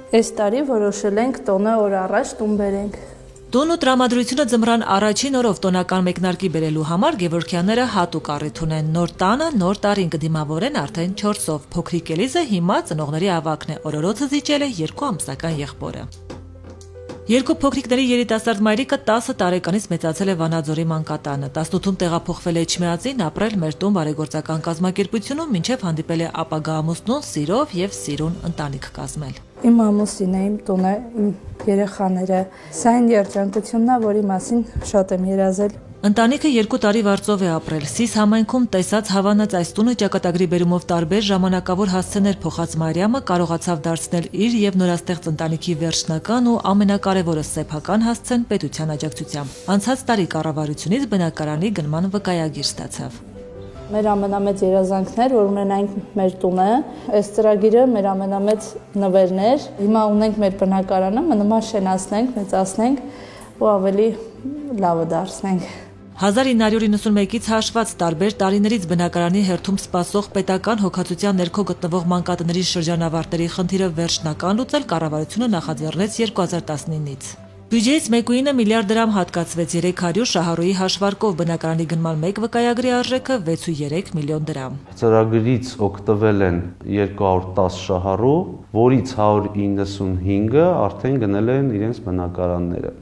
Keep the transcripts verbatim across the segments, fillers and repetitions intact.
Այս տարի որոշել ենք տոնը օր առաջ տուն բերենք։ Տուն ու տրամադրությունը ձմռան առաջին օրով տոնական մեկնարկի բերելու համար Գևորգյանները հատուկ առիթ ունեն։ Նոր տանը նոր տարին կդիմավորեն արդեն չորսով։ Փոքրիկ Էլիզը հիմա ծնողների ավագն է, օրորոցը զիջել է երկու ամսական եղբորը։ Երկու փոքրիկների երիտասարդ մայրիկը տասը տարեկանից մեծացել է Վանաձորի մանկատանը, տասնութում տեղափոխվել է Էջմիածին, ապրել մեր տուն բարեգործական կազմակերպությունում, մինչև հանդիպել է ապագա ամուսնուն սիրով եւ սիրուն ընտանիք կազմել։ Իմ ամուսինը, իմ տունը, իմ երեխաները, սա այն երջանկությունն է, որի մասին շատ եմ երազել։ Ընտանիքը երկու տարի վարձով է ապրել։ Սիս համայնքում տեսած հավանած այս տունը ճակատագրի բերումով տարբեր ժամանակավոր հասցեներ փոխած Մարիամը կարողացավ դարձնել իր եւ նորաստեղծ ընտանիքի վերջնական ու ամենակարևորը սեփական հասցեն պետության աջակցությամբ։ Անցած տարի կառավարությունից բնակարանի գնման վկայագիր ստացավ։ Մեր ամենամեծ երազանքն էր, որ ունենանք մեր տունը, այս ծրագիրը մեր ամենամեծ նվերն էր։ Հիմա ունենք մեր բնակարանը, մնում է շենացնենք, մեծացնենք ու ավելի լավը դարձնենք։ հազար ինը հարյուր իննսունմեկից հաշված տարբեր տարիներից բնակարանի հերթում սպասող պետական հոգացության ներքո գտնվող մանկատների շրջանավարտների խնդիրը վերջնական լուծել կառավարությունը նախաձեռնեց երկու հազար տասնինից։ Բյուջեից մեկուինը միլիարդ դրամ հատկացվեց, երեք հարյուր շահառուի հաշվարկով բնակարանի գնման մեկ վկայագրի արժեքը վեց ու երեք միլիոն դրամ։ Ծրագրից օգտվել են երկու հարյուր տասը շահառու, որից հարյուր իննսունհինգը արդեն գնել են իրենց բնակարանները։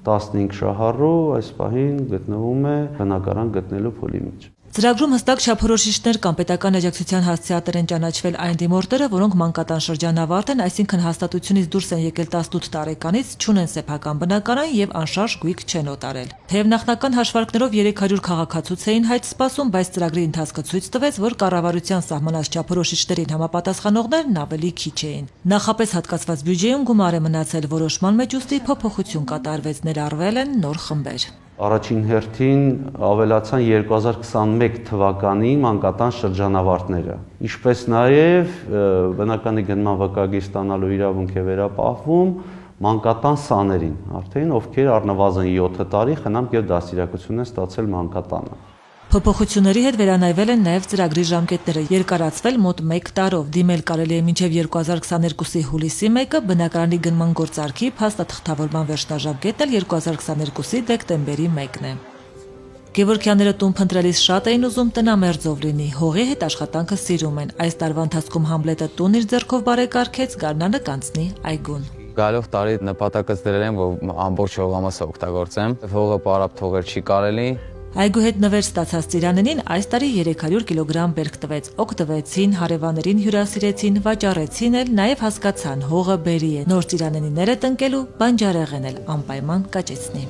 տասնհինգ շահառու այս պահին գտնվում է բնակարան գտնելու փուլի մեջ։ Ծրագրում հստակ չափորոշիչներ կան, պետական աջակցության հասցեատեր են ճանաչվել այն դիմորդները, որոնք մանկատան շրջանավարտ են, այսինքն հաստատությունից դուրս են եկել տասնութ տարեկանից, չունեն սեփական բնակարան եւ անշարժ գույք չեն օտարել։ Թեև նախնական հաշվարկներով երեք հարյուր քաղաքացուց էին հայտ սպասում, բայց ծրագրի ընթացքը ցույց տվեց, որ կառավարության սահմանած չափորոշիչներին համապատասխանողներն ավելի քիչ էին։ Նախապես հատկացված բյուջեում գումար է մնացել, որոշման մեջ ուստի փոփոխություն կատարվեց, ներառվել են նոր խմբեր։ Առաջին հերթին ավելացան երկու հազար քսանմեկ թվականի մանկատան շրջանավարտները, ինչպես նաև բնականի գնման վկայագիր ստանալու իրավունք է վերապահվում մանկատան սաներին, արդեն ովքեր առնվազն յոթ տարի խնամք եւ դաստիարակություն են ստացել մանկատանը։ Փոփոխությունների հետ վերանայվել են նաև ծրագրի ժամկետները, երկարացվել մոտ մեկ տարով, դիմել կարելի է մինչև երկու հազար քսաներկուսի հուլիսի մեկը, բնակարանի գնման գործարքի փաստաթղթավորման վերջնաժամկետն էլ երկու հազար քսաներկուսի դեկտեմբերի մեկն է։ Գևորգյանները տուն փնտրելիս շատ էին ուզում տնամերձով լինի, հողի հետ աշխատանքը սիրում են։ Այս տարվա ընթացքում Համլետը տուն իր ձեռքով բարեկարգեց, գարնանը կանցնի այգուն։ Գալով տարի նպատակս դրել եմ, որ ամբողջ հողամասը օգտագործեմ, հողը պարապ թողել չի կարելի։ Այգու հետ նվեր ստացած ծիրանենին այս տարի երեք հարյուր կիլոգրամ բերք տվեց, օգտվեցին, հարևաներին հյուրասիրեցին, վաճառեցին էլ, նաև հասկացան հողը բերի է, նոր ծիրանենիները տնկելու բանջարեղեն էլ անպայման կաճեցնի։